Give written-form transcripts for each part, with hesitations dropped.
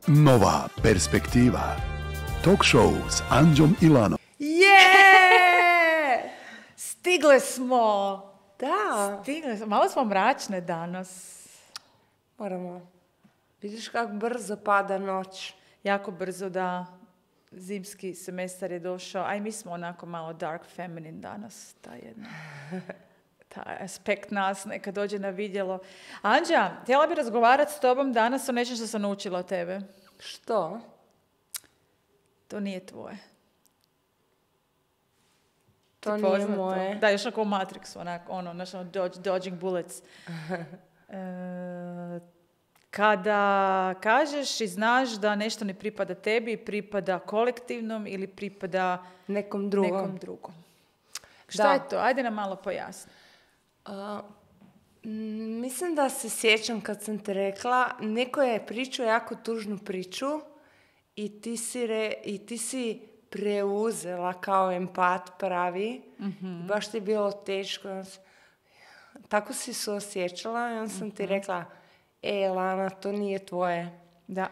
Nova perspektiva. Talk show s Anđom i Lanom. Stigle smo! Da. Stigle smo. Malo smo mračne danas. Moramo. Vidiš kako brzo pada noć. Jako brzo da zimski semestar je došao. A i mi smo onako malo dark feminine danas. Taj aspekt nas neka dođe na vidjelo. Anđa, htjela bi razgovarati s tobom danas o nečem što sam naučila od tebe. Što? To nije tvoje. To nije moje. Da, još onako u Matrixu, dodging bullets. Kada kažeš i znaš da nešto ne pripada tebi, pripada kolektivnom ili pripada nekom drugom. Šta je to? Ajde nam malo pojasni. Mislim da se sjećam kad sam te rekla, neko je pričao jako tužnu priču i ti si preuzela kao empat pravi. Mm-hmm. Baš ti je bilo teško. Tako si se osjećala i onda sam ti rekla, Lana, to nije tvoje. Da.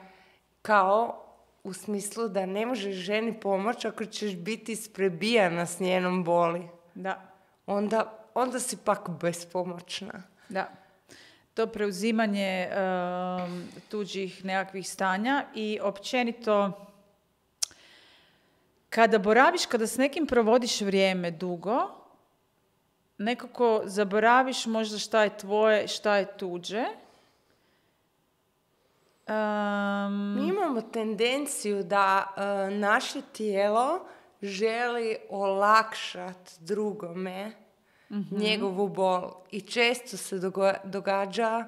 Kao u smislu da ne možeš ženi pomoći ako ćeš biti isprebijana s njenom boli. Da. Onda si pak bespomoćna. Da. To preuzimanje tuđih nekakvih stanja i općenito kada s nekim provodiš vrijeme dugo, nekako zaboraviš možda šta je tvoje, šta je tuđe. Mi imamo tendenciju da naše tijelo želi olakšati drugome njegovu bol. I često se događa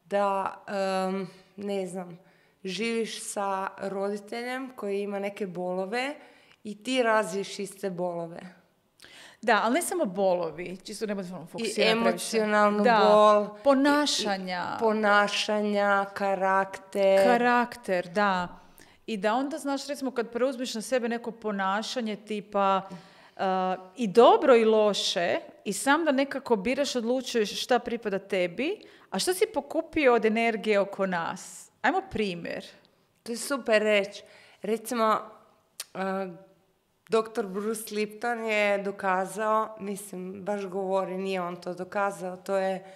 da, živiš sa roditeljem koji ima neke bolove i ti razviješ iste bolove. Da, ali ne samo bolovi, čisto ne budemo fokusirati. I emocionalnu bol. Ponašanja, karakter. Da. I da onda, znaš, recimo kad preuzmeš na sebe neko ponašanje tipa i dobro i loše i sam da nekako biraš, odlučuješ šta pripada tebi, a šta si pokupio od energije oko nas? Ajmo primjer. To je super reći. Recimo, Dr. Bruce Lipton je dokazao, baš govori, nije on to dokazao, to je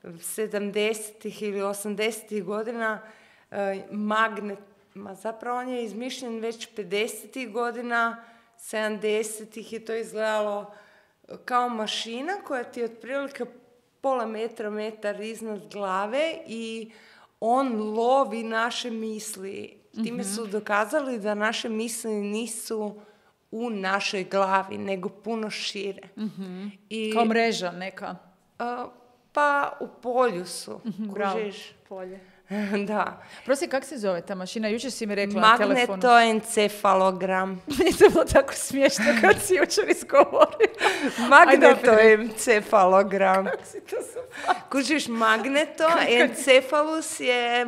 70. ili 80. godina zapravo on je izmišljen već 50. godina, 70. je to izgledalo kao mašina koja ti je otprilike pola metar iznad glave i on lovi naše misli. Time su dokazali da naše misli nisu u našoj glavi, nego puno šire. Mm-hmm. Kao mreža neka? Pa u polju su. Bravo, polje. Da. Prosti, kako se zove ta mašina? Jučer si mi rekla na telefonu. Magnetoencefalogram. Meni to bilo tako smiješno kad si jučer izgovorio. Magnetoencefalogram. Kako si to super? Kužiš, magnetoencefalus je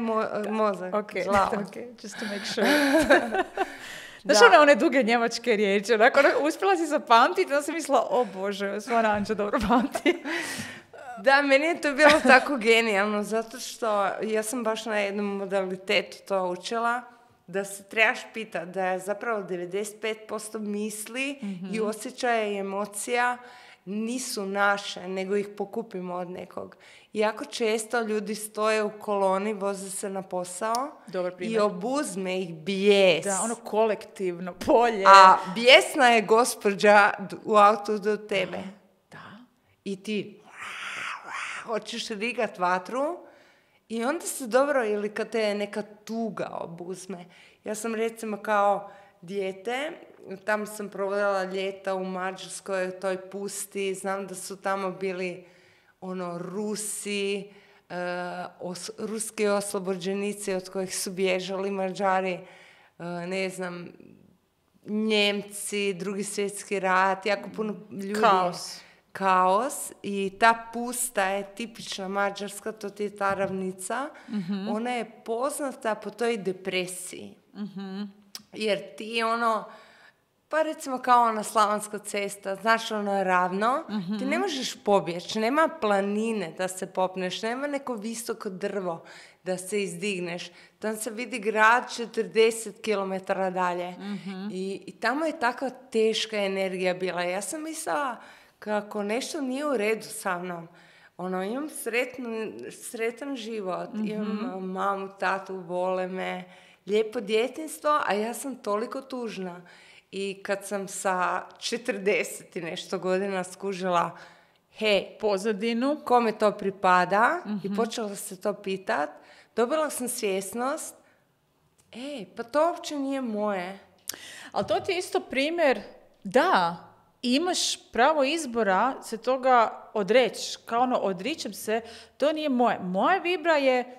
mozak. Okay, just to make sure. Znaš one duge njemačke riječi, uspjela si zapamtiti, onda sam mislila, o Bože, stvarno Anđa dobro pamti. Da, meni je to bilo tako genijalno, zato što ja sam baš na jednom modalitetu to učila, da se trebaš pitati da je zapravo 95% misli i osjećaja i emocija nisu naše, nego ih pokupimo od nekog. Jako često ljudi stoje u koloni, voze se na posao i obuzme ih bijes. Da, ono kolektivno polje. A bijesna je gospođa u autu do tebe. Da. I ti hoćeš rigat vatru i onda se dobro, ili kad te neka tuga obuzme. Ja sam recimo kao dijete, tamo sam provodila ljeta u Mađarskoj, toj pusti, znam da su tamo bili Rusi, ruski oslobođenici od kojih su bježali Mađari, Njemci, Drugi svjetski rat, jako puno ljudi. Kaos. I ta pusta je tipična mađarska, to ti je ta ravnica. Mm-hmm. Ona je poznata po toj depresiji. Mm-hmm. Jer ti Pa recimo kao ona Slavonska cesta, znaš, ono je ravno, ti ne možeš pobjeći, nema planine da se popneš, nema neko visoko drvo da se izdigneš. Tam se vidi grad 40 km dalje. I tamo je takva teška energija bila. Ja sam mislila kako nešto nije u redu sa mnom. Ono, imam sretan život, imam mamu, tatu, vole me, lijepo djetinjstvo, a ja sam toliko tužna. I kad sam sa 40 i nešto godina skužila, hej, Pozadinu. kome to pripada, i počela se to pitat, dobila sam svjesnost, pa to uopće nije moje. Ali to ti je isto primjer, da, imaš pravo izbora se toga odreći. Kao ono, odričem se, to nije moje. Moja vibra je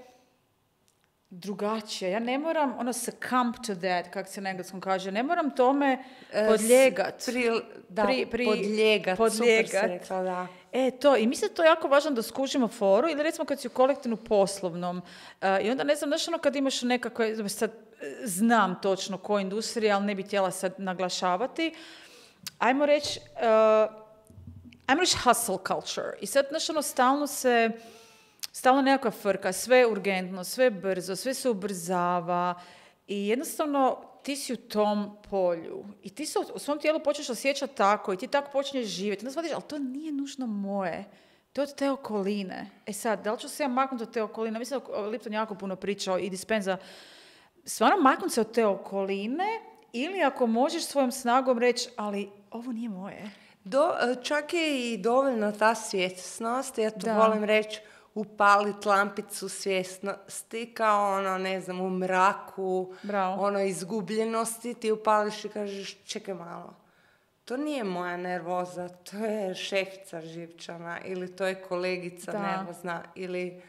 drugačija. Ja ne moram, succumb to that, kako se na engleskom kaže, ne moram tome podlijegat. Podlijegat, super se rekla, da. To, i mislim da je to jako važno da skužimo foru, ili recimo kad si u kolektivnu poslovnom, i onda ne znam, znaš kad imaš nekakve, sad znam točno koja industrija, ali ne bi htjela sad naglašavati, ajmo reći hustle culture. I sad, znaš, stalno nekakva frka, sve je urgentno, sve je brzo, sve se ubrzava i jednostavno ti si u tom polju i ti se u svom tijelu počneš osjećati tako i ti tako počneš živjeti. Onda shvatiš, ali to nije nužno moje. To je od te okoline. Sad, da li ću se ja maknuti od te okoline? Mislim da Lipton jako puno pričao i Dispenza. Stvarno maknuti se od te okoline ili ako možeš svojom snagom reći, ali ovo nije moje. Čak je i dovoljno ta svjesnost, ja to volim reći, upalit lampicu svjesnosti kao u mraku, izgubljenosti, ti upališ i kažeš, čekaj malo, to nije moja nervoza, to je šefica živčana ili to je kolegica nervozna ili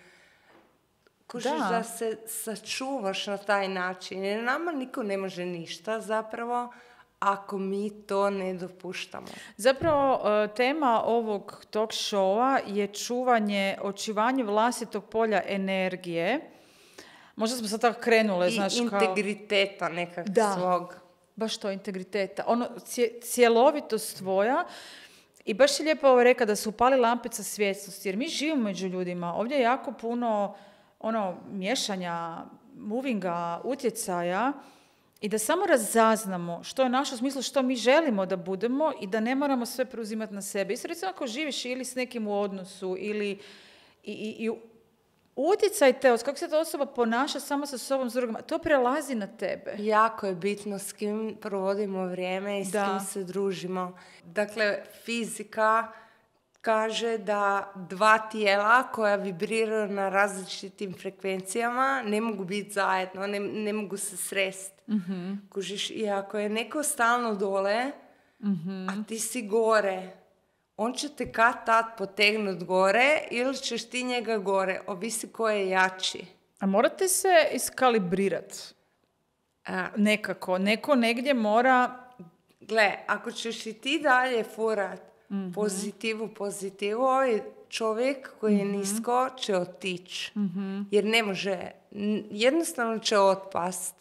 kužiš da se sačuvaš na taj način, jer nama niko ne može ništa zapravo ako mi to ne dopuštamo. Zapravo, tema ovog talk showa je očuvanje vlastitog polja energije. Možda smo sad tako krenule, znaš, kao... I integriteta nekak svog. Baš to, integriteta. Cjelovitost tvoja. I baš je lijepo ovo rekao da se upali lampica svjesnosti, jer mi živimo među ljudima. Ovdje je jako puno miješanja, movinga, utjecaja, i da samo razaznamo što je naše u smislu što mi želimo da budemo i da ne moramo sve preuzimati na sebe. Isto recimo ako živiš ili s nekim u odnosu ili i utjecaj te, kako se ta osoba ponaša samo sa sobom, s drugima, to prelazi na tebe. Jako je bitno s kim provodimo vrijeme i s kim se družimo. Dakle, fizika kaže da dva tijela koja vibriraju na različitim frekvencijama ne mogu biti zajedno, ne mogu se sresti. Kužiš, i ako je neko stalno dole, a ti si gore, on će te kad-tad potegnut gore ili ćeš ti njega gore, ovisi ko je jači. A morate se iskalibrirati nekako. Neko negdje mora... Gle, ako ćeš i ti dalje furat pozitivu, ovaj čovjek koji je nisko će otići. Jer ne može, jednostavno će otpast.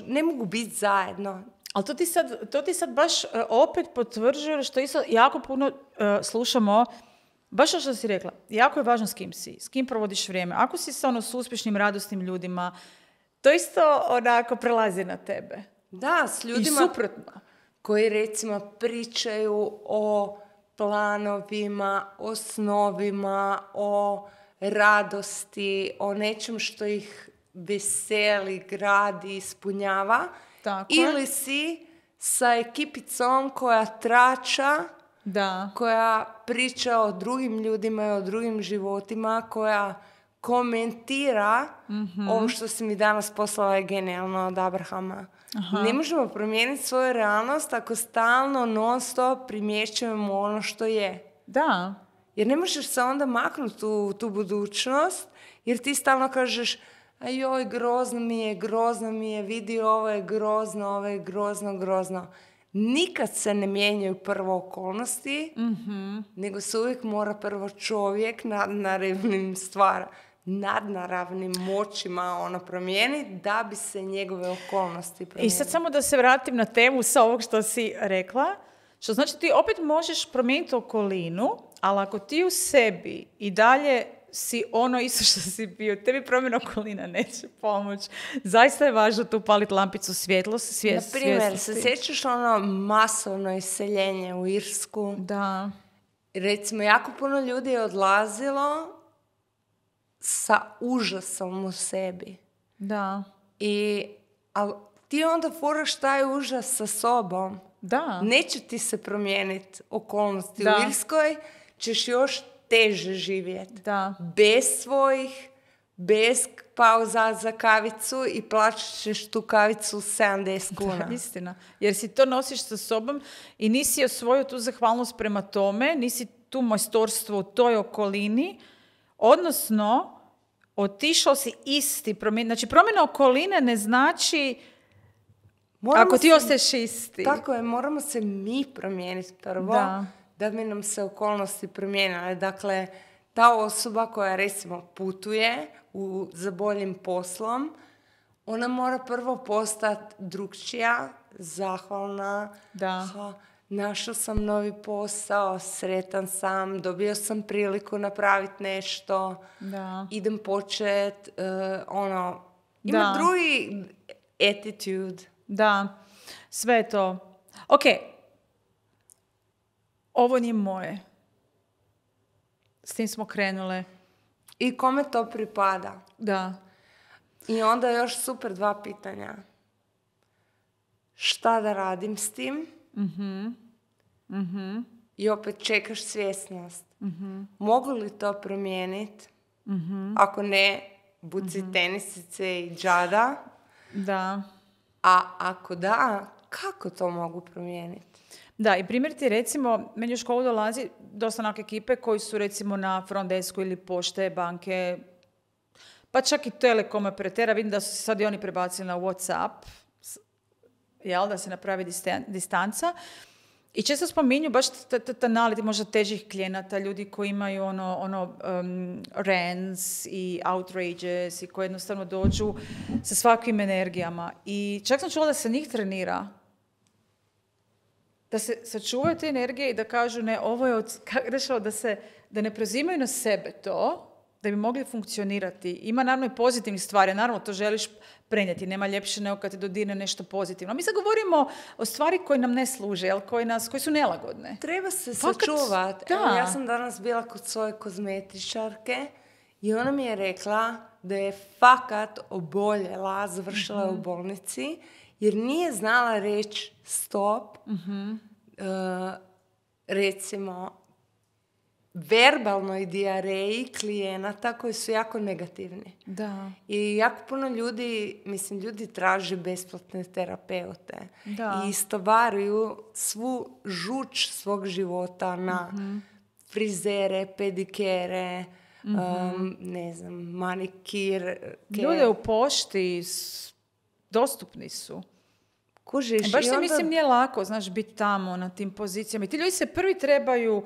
Ne mogu biti zajedno. Ali to ti sad baš opet potvrđuje što isto jako puno slušamo, baš što si rekla, jako je važno s kim si, s kim provodiš vrijeme. Ako si s uspješnim, radosnim ljudima, to isto onako prelazi na tebe. Da, s ljudima... I suprotno. Koji recimo pričaju o planovima, o snovima, o radosti, o nečem što ih veseli, gradi, ispunjava. Tako. Ili si sa ekipicom koja trača, koja priča o drugim ljudima i o drugim životima, koja komentira ovo što si mi danas poslala je genijalno od Abrahama. Aha. Ne možemo promijeniti svoju realnost ako stalno, non stop primjećujemo ono što je. Da. Jer ne možeš se onda maknuti u tu budućnost, jer ti stalno kažeš, joj, grozno mi je, vidi, ovo je grozno. Nikad se ne mijenjaju prvo okolnosti, nego se uvijek mora prvo čovjek na revnim stvara. nadnaravnim moćima ono promijeniti da bi se njegove okolnosti promijenile. I sad samo da se vratim na temu sa ovog što si rekla, što znači ti opet možeš promijeniti okolinu, ali ako ti u sebi i dalje si ono isto što si bio, tebi promjena okolina neće pomoći. Zaista je važno tu paliti lampicu svjetlosti. Na primjer, se sjećaš ono masovno iseljenje u Irsku? Da. Recimo, jako puno ljudi je odlazilo sa užasom u sebi. Da. Ali ti onda furaš taj užas sa sobom. Da. Neće ti se promijeniti okolnosti Da. u Irskoj, ćeš još teže živjeti. Da. Bez pauza za kavicu i plaćat ćeš tu kavicu 70 kuna. Da, istina. Jer si to nosiš sa sobom i nisi osvojio tu zahvalnost prema tome, nisi tu majstorstvo u toj okolini, odnosno otišao si isti. Znači, promjena okoline ne znači ako ti ostaješ isti. Tako je, moramo se mi promijeniti prvo, da bi nam se okolnosti promijenile. Dakle, ta osoba koja recimo putuje za boljim poslom, ona mora prvo postati drukčija, zahvalna. Da. Našao sam novi posao, sretan sam, dobio sam priliku napraviti nešto, idem počet, ima drugi attitude. Da, sve je to. Ok, ovo nije moje. S tim smo krenule. I kome to pripada? Da. I onda još super 2 pitanja. Šta da radim s tim? I opet čekaš svjesnost. Mogu li to promijeniti? Ako ne, buci tenisice i džada. Da. A ako da, kako to mogu promijeniti? Da, i primjer ti recimo, meni u školu dolazi dosta onak ekipe koji su recimo na front desku ili pošte, banke, pa čak i telekom operatera. Vidim da su se sad i oni prebacili na WhatsApp, jel, da se napravi distanca. I često spominju baš ta naleti možda težih klijenata, ljudi koji imaju rants i outrages i koji jednostavno dođu sa svakvim energijama. I čak sam čula da se njih trenira. Da se sačuvaju te energije i da kažu ne, ovo je da ne preuzimaju na sebe to, da bi mogli funkcionirati. Ima naravno i pozitivnih stvari, naravno to želiš prenijeti, nema ljepše nego kad te dodirne nešto pozitivno. Mi sad govorimo o stvari koje nam ne služe, koje su nelagodne. Treba se sačuvati. Ja sam danas bila kod svoje kozmetičarke i ona mi je rekla da je fakat oboljela, završila je u bolnici, jer nije znala reći stop, recimo, verbalnoj dijareji klijenata koji su jako negativni. Da. I jako puno ljudi traže besplatne terapeute. Da. I istovaruju svu žuč svog života na frizere, pedikere, ne znam, manikir. Ljude u pošti dostupni su. Kužiš. Baš se mislim nije lako, znaš, biti tamo na tim pozicijama. I ti ljudi se prvi trebaju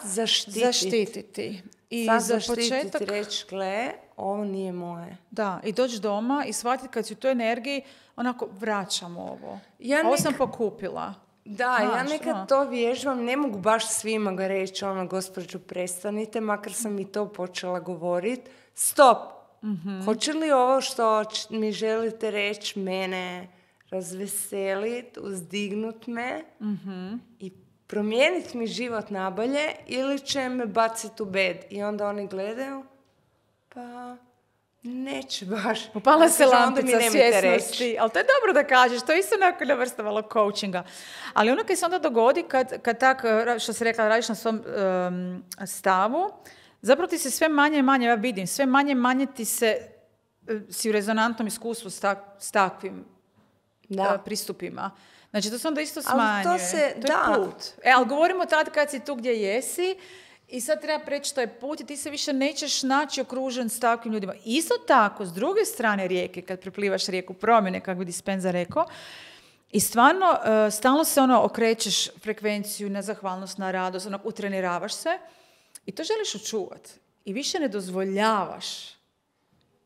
zaštititi. I sad za početak početak reći, gle, ovo nije moje. Da, i doći doma i shvatiti kad si u toj energiji, onako, vraćam ovo. Ovo sam pokupila. Da, ja nekad to vježbam, ne mogu baš svima ga reći, gospođo, prestanite, makar sam i to počela govoriti. Stop! Hoće li ovo što mi želite reći mene razveseliti, uzdignut me i promijeniti mi život nabolje, ili će me baciti u bed? I onda oni gledaju, pa neće baš. Upala se lampica svjesnosti. Ali to je dobro da kažeš, to je isto nekako vrsta malo coachinga. Ali ono kad se onda dogodi, kad tako, što si rekla, radiš na svom stavu, zapravo ti se sve manje i manje, ja vidim, sve manje i manje ti si u rezonantnom iskustvu s takvim pristupima. Znači, to se onda isto smanjuje. To je put. Ali govorimo tad kad si tu gdje jesi i sad treba preći taj put i ti se više nećeš naći okružen s takvim ljudima. Isto tako, s druge strane rijeke, kad preplivaš rijeku promjene, kako bi Dispenza rekao, i stvarno, stalno se okrećeš frekvenciju na zahvalnost, na radost, utreniravaš se i to želiš očuvati. i više ne dozvoljavaš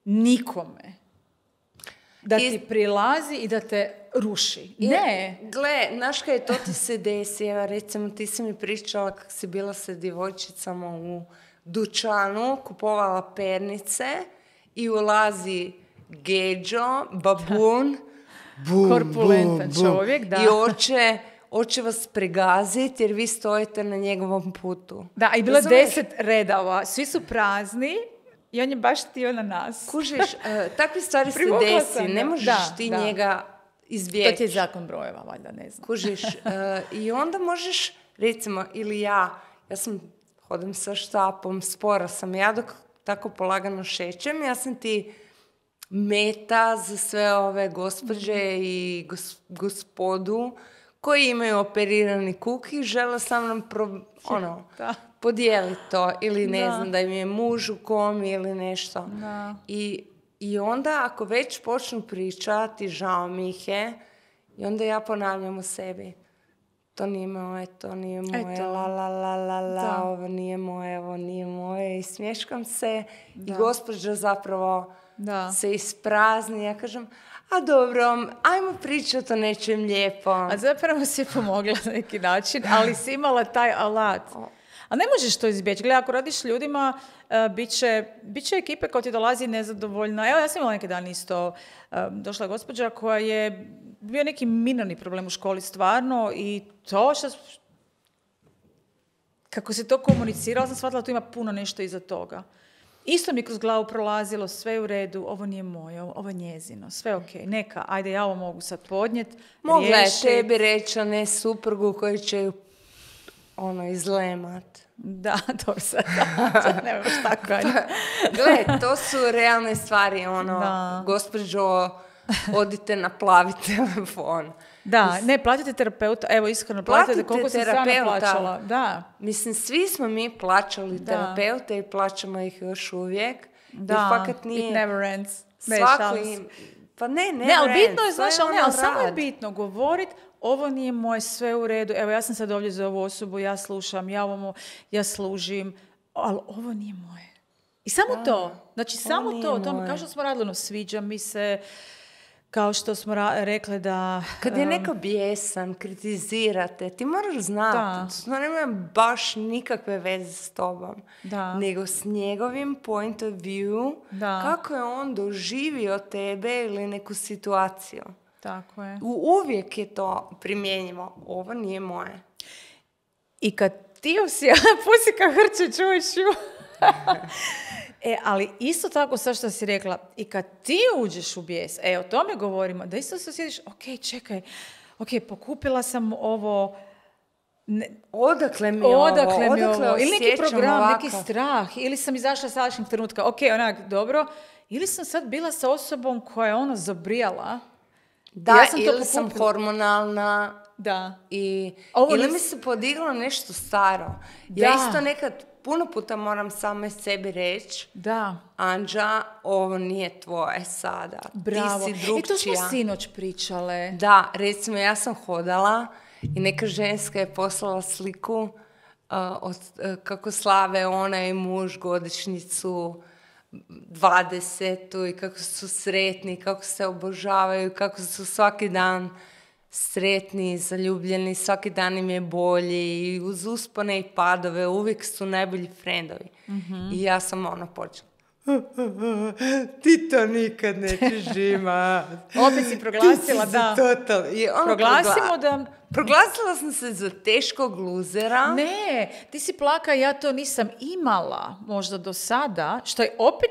nikome da ti prilazi i da te ruši. Ne. Gle, znaš kaj to ti se desi? Evo, recimo, ti si mi pričala kako si bila sa djevojčicama u dućanu, kupovala pernice i ulazi Geđo, babun, Korpulentan čovjek, da. I hoće vas pregaziti jer vi stojite na njegovom putu. Da, i bilo je 10 redova, svi su prazni i on je baš htio na nas. Kužiš, takve stvari se desi, ne možeš ti njega izbjeći. To ti je zakon brojeva, valjda, ne znam. Kužiš, i onda možeš, recimo, ili ja hodam sa štapom, spora sam ja dok tako polagano šećem, ja sam ti meta za sve ove gospođe i gospodu koji imaju operirani kuk i žele sa mnom podijeliti to. Ili ne znam, da im je muž u komi ili nešto. Da. I onda ako već počnu pričati, žao mi ih je, i onda ja ponavljam u sebi. To nije moje, to nije moje, ovo nije moje, ovo nije moje. I smješkam se i gospođa zapravo se isprazni. Ja kažem, a dobro, ajmo pričati o nečem lijepo. A zapravo si pomogla na neki način, ali si imala taj alat. A ne možeš to izbjeći. Gledaj, ako radiš s ljudima, bit će ekipe koja ti dolazi nezadovoljna. Evo, ja sam imala neki dan isto, došla gospođa koja je bio neki minorni problem u školi stvarno i to kako se to komuniciralo, sam shvatila da tu ima puno nešto iza toga. Isto mi kroz glavu prolazilo, sve je u redu, ovo nije moje, ovo je njezino, sve ok, neka, ajde, ja ovo mogu sad podnijeti, mogla je tebi reći, a ne suprugu koji će ju izlemat. Da, to sad ne možeš tako. Gle, to su realne stvari, gospođo, odite na plavi telefon. Da, ne, platite terapeuta, evo iskreno, platite koliko sam strana plaćala. Da. Mislim, svi smo mi plaćali terapeute i plaćamo ih još uvijek. Da, it never ends. Pa ne, ali bitno je, znaš, ali samo je bitno govoriti, ovo nije moje, sve u redu, evo ja sam sad ovdje za ovu osobu, ja slušam, ja služim, ali ovo nije moje. I samo to, znači samo to, kao što smo radili, sviđa mi se, kao što smo rekli da... Kad je neko bijesan, kritizirate, ti moraš znati, to nema baš nikakve veze s tobom, nego s njegovim point of view, kako je on doživio tebe ili neku situaciju. Tako je. Uvijek je to primjenjivo. Ovo nije moje. I kad ti pusi ka hrče, čuješ ju. Ali isto tako sad što si rekla, i kad ti uđeš u bijes, o tome govorimo, da isto se osjetiš, čekaj, pokupila sam ovo, odakle mi ovo, ili neki program, neki strah, ili sam izašla sa sadašnjeg trenutka, dobro, ili sam sad bila sa osobom koja je zabrijala. Da, ja sam ili sam hormonalna. Da. Ili mi se podiglo nešto staro. Ja isto nekad puno puta moram same sebi reći, Anđa, ovo nije tvoje sada. Bravo. Ti si drugčija. I to smo sinoć pričale. Da, recimo ja sam hodala i neka ženska je poslala sliku kako slave ona i muž godišnjicu 20. i kako su sretni, kako se obožavaju, kako su svaki dan sretni, zaljubljeni, svaki dan im je bolji i uz uspone i padove uvijek su najbolji frendovi. Mm-hmm. I ja sam počela. Ti to nikad nećeš imat. Opet si proglasila, da. Proglasimo da... Proglasila sam se za teškog luzera. Ne, ti si plaka, ja to nisam imala možda do sada, što je opet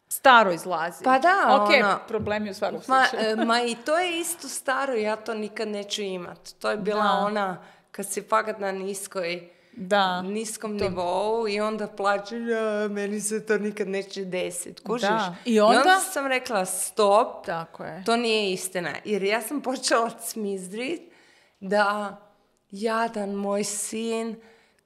staro izlazi. Pa da, problemi u svakom slučaju. Ma i to je isto staro, ja to nikad neću imat. To je bila ona, kad si fakat na niskom nivou i onda plaćaš, meni se to nikad neće desiti. Kužiš? I onda sam rekla, stop, tako je. To nije istina. Jer ja sam počela cmizdrit da jadan moj sin,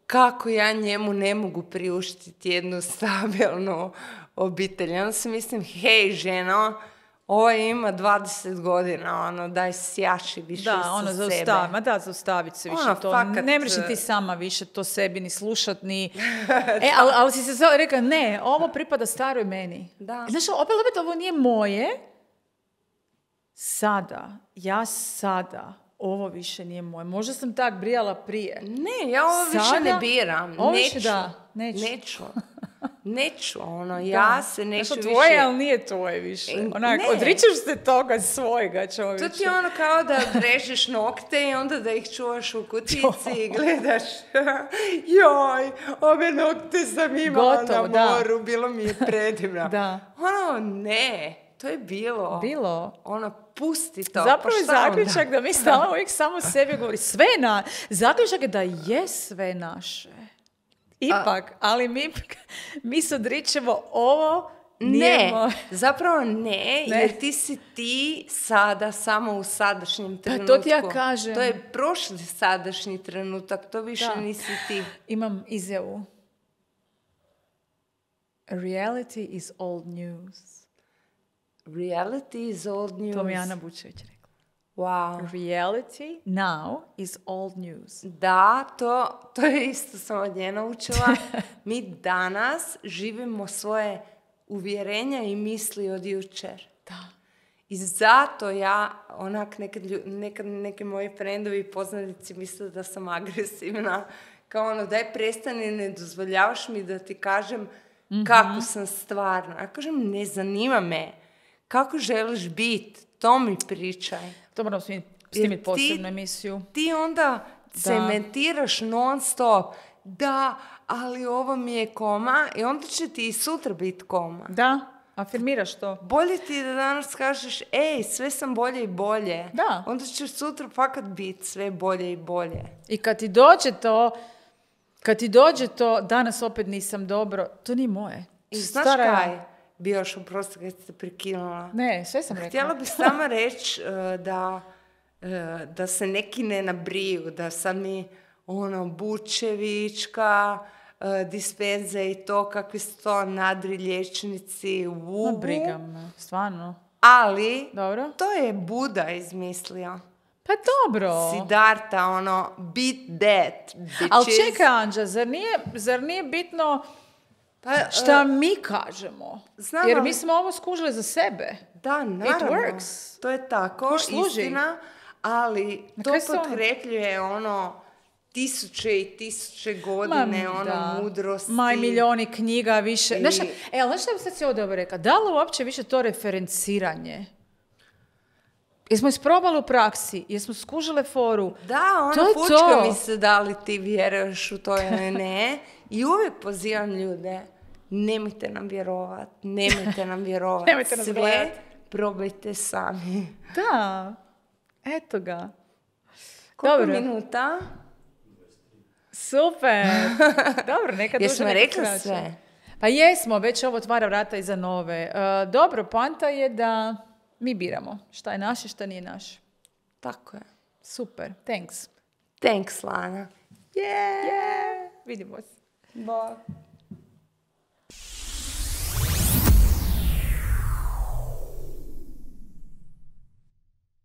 kako ja njemu ne mogu priuštiti jednu stabilnu obitelj. Onda si mislim, hej ženo, Ovaj ima 20 godina, ono, daj sjaši više Da, sa ono, sebe. zaustaviti se više Ono, to. fakat, Ne mreš ni ti sama više to sebi ni slušat, ni... ali si se rekla, ne, ovo pripada staroj meni. Da. Znaš, opet ovo nije moje. Ja sada, ovo više nije moje. Možda sam tak brijala prije. Ne, ja ovo više Sada? ne biram. Ovo Neću. više neću. Neću, ono, ja se neću Znaš, više... tvoje, ali nije tvoje više. Onak, Ne. odričeš se toga svojega, To čovječe. ti je ono kao da odrežeš nokte i onda da ih čuvaš u kutici i gledaš. Joj, ove nokte sam imala Gotovo, na da. moru, bilo mi je predivno. Da. Ono, ne, to je bilo. Ono, pusti to. Zapravo je pa šta onda? zaključak da mi stalno uvijek samo sebi govori zaključak je da je sve naše. Ipak, ali mi se odričemo ovo nije Ne, moje. zapravo ne, jer ti si ti sada samo u sadašnjem trenutku. to ti ja kažem. To je prošli sadašnji trenutak, to više Da. nisi ti. Imam izjavu. Reality is old news. Reality is old news. To mi je Ana Bučević rekla. Wow. Reality now is old news. Da, to je isto sam od nje naučila. Mi danas živimo svoje uvjerenja i misli od jučer. Da. I zato ja, onak, nekad neki moji friendovi i poznanici misle da sam agresivna. Kao ono, daj prestani, ne dozvoljavaš mi da ti kažem kako sam stvarno. Ja kažem, ne zanima me. Kako želiš biti? To mi pričaj. To moram snimiti posebnu emisiju. Ti onda cementiraš non stop. Da, ali ovo mi je koma i onda će ti i sutra biti koma. Da, afirmiraš to. Bolje ti je da danas kažeš, ej, sve sam bolje i bolje. Da. Onda ćeš sutra fakat biti sve bolje i bolje. I kad ti dođe to, danas opet nisam dobro, to nije moje. I znaš kaj? Bi još oprosti kad ste prekinula. Ne, sve sam rekla. Htjela bi samo reći da se neki ne nabriju, da sad mi Bučevička, dispenza i to, kakvi su to nadri liječnici, Ma briga me, stvarno. ali Dobro. to je Buda izmislio. Pa dobro. Siddhartha, beat that, bitches. Ali čekaj, Anđa, zar nije bitno šta mi kažemo? znam, Jer ali- mi smo ovo skužili za sebe. Da, naravno. works. To je tako, Ko služi? istina, ali Na to kraju se potkrepljuje tisuće i tisuće godine, mudrosti. Ma i milijoni knjiga više. I- Znaš šta bi sad si ovdje rekla? Da li uopće više to referenciranje? Jesmo isprobali u praksi? Jesmo skužile foru? Da, To je fučka to. mi se da li ti vjeruješ u to ili ne. I uvijek pozivam ljude, nemojte nam vjerovat. Nemojte nas Sve gledat. probajte sami. Da. Eto ga. Koliko Dobro. minuta? Super. Dobro, nekad duže, Jesmo nekad rekli kraće. sve? Pa jesmo, već ovo otvara vrata i za nove. Dobro, poanta je da mi biramo šta je naše, šta nije naše. Tako je. Super, thanks. Thanks, Lana. Yeah. Vidimo se. Bye.